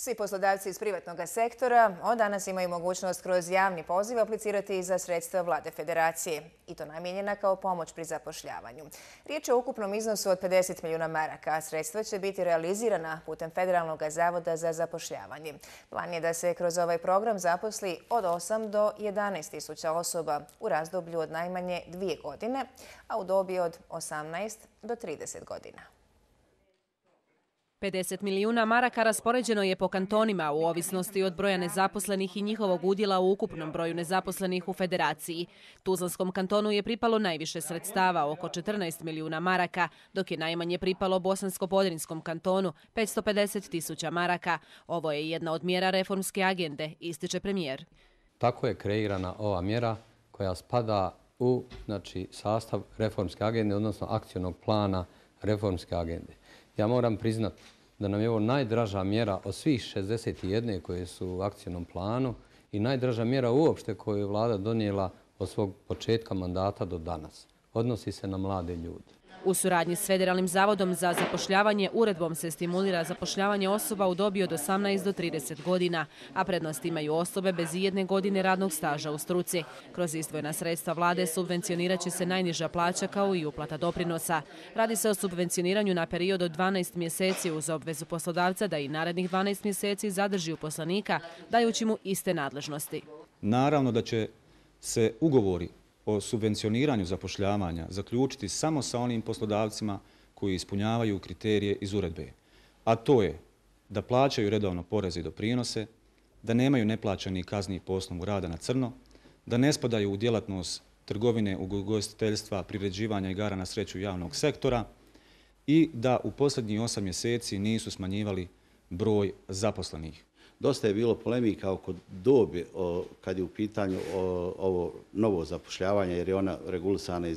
Svi poslodavci iz privatnog sektora od danas imaju mogućnost kroz javni poziv aplicirati za sredstva Vlade Federacije, i to namijenjena kao pomoć pri zapošljavanju. Riječ je o ukupnom iznosu od 50 milijuna maraka, a sredstva će biti realizirana putem Federalnog zavoda za zapošljavanje. Plan je da se kroz ovaj program zaposli od 8 do 11 tisuća osoba u razdoblju od najmanje 2 godine, a u dobi od 18 do 30 godina. 50 milijuna maraka raspoređeno je po kantonima u ovisnosti od broja nezaposlenih i njihovog udjela u ukupnom broju nezaposlenih u Federaciji. Tuzlanskom kantonu je pripalo najviše sredstava, oko 14 milijuna maraka, dok je najmanje pripalo Bosansko-Podrinjskom kantonu, 550 tisuća maraka. Ovo je jedna od mjera reformske agende, ističe premijer. Tako je kreirana ova mjera koja spada u sastav reformske agende, odnosno akcionog plana reformske agende. Ja moram priznati da nam je ovo najdraža mjera od svih 61 koje su u akcijnom planu i najdraža mjera uopšte koju je Vlada donijela od svog početka mandata do danas. Odnosi se na mlade ljude. U suradnji s Federalnim zavodom za zapošljavanje uredbom se stimulira zapošljavanje osoba u dobi od 18 do 30 godina, a prednost imaju osobe bez ijedne godine radnog staža u struci. Kroz izdvojena sredstva Vlade subvencionirat će se najniža plaća kao i uplata doprinosa. Radi se o subvencioniranju na period od 12 mjeseci uz obvezu poslodavca da i narednih 12 mjeseci zadrži uposlenika, dajući mu iste nadležnosti. Naravno da će se ugovori o subvencioniranju zapošljavanja zaključiti samo sa onim poslodavcima koji ispunjavaju kriterije iz uredbe. A to je da plaćaju redovno poreze i doprinose, da nemaju neplaćenih kazni po osnovu rada na crno, da ne spadaju u djelatnost trgovine, ugostiteljstva, priređivanja igara na sreću javnog sektora i da u posljednjih 8 mjeseci nisu smanjivali broj zaposlenih. Dosta je bilo polemika oko dobi kad je u pitanju ovo novo zapošljavanje, jer je ona regulisana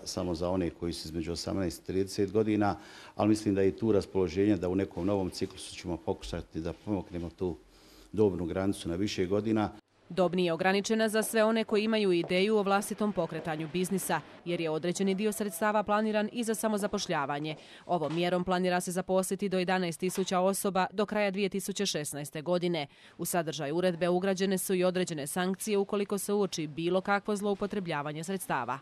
samo za one koji su između 18 i 30 godina, ali mislim da je tu raspoloženje da u nekom novom ciklusu ćemo pokušati da pomognemo tu dobnu granicu na više godina. Dob nije ograničena za sve one koji imaju ideju o vlastitom pokretanju biznisa, jer je određeni dio sredstava planiran i za samozapošljavanje. Ovom mjerom planira se zaposliti do 11 tisuća osoba do kraja 2016. godine. U sadržaj uredbe ugrađene su i određene sankcije ukoliko se uoči bilo kakvo zloupotrebljavanje sredstava.